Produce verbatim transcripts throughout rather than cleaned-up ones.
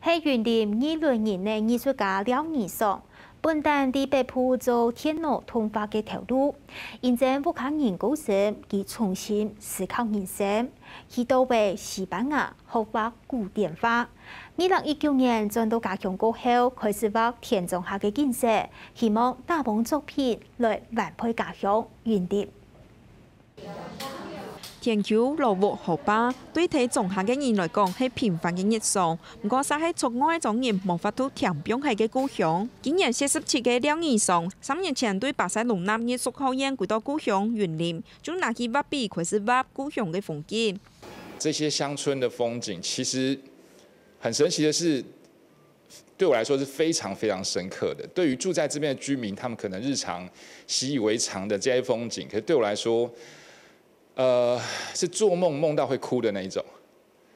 係雲林二崙人个藝術家廖義爽，本旦在北部做電腦動畫个頭路，因爭屋下人過身，佢重新思考人生，去到位西班牙學畫古典畫。二零一九年轉到家鄉過後，開始畫田莊下个景色，希望打幫作品來反饋家鄉雲林。 田坵、老屋、河壩，對在莊下个人來講係平凡个日常。毋過，煞係出外庄人無法度添放忒个故鄉。今年四十七个廖義爽，三年前對巴塞隆納藝術學院歸到故鄉雲林，就拿起畫筆開始畫故鄉个風景。這些鄉村的風景，其實很神奇的是，對我來說是非常非常深刻的。對於住在這邊的居民，他們可能日常習以為常的這些風景，可是對我來說，呃，是做夢夢到會哭的那一種。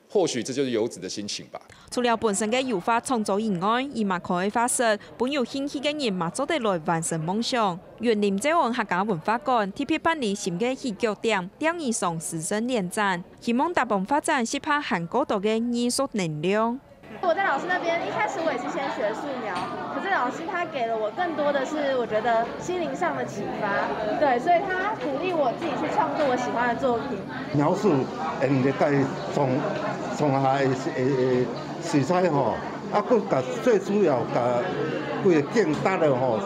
或許這就是遊子的心情吧。除了本身个油畫創作以外，佢嘛開畫室，分有興趣个人嘛做得來完成夢想。雲林詔安客家文化館特別辦理新个起腳點廖義爽師生聯展，希望打幫發展適合還過多个藝術能量。 我在老師那邊，一開始我也是先學素描，可是老師他給了我更多的是我覺得心靈上的啟發，對，所以他鼓勵我自己去創作我喜歡的作品。描述，嗯，歷代從從下个个水彩吼，啊，佮佮最主要佮規个景搭了吼，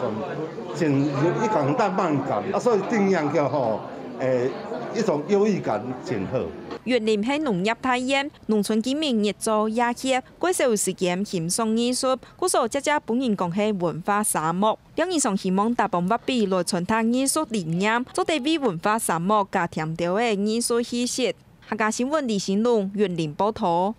真有一種浪漫感，啊，所以定樣叫吼，誒，一種優越感真好。雲林係農業大縣，農村居民日晝夜歇，較少時間欣賞藝術，故所常常分人講係文化沙漠。廖義爽希望打幫畫筆來傳達藝術理念，做得為文化沙漠加添兜仔藝術氣息。客家新聞李新龍雲林報導。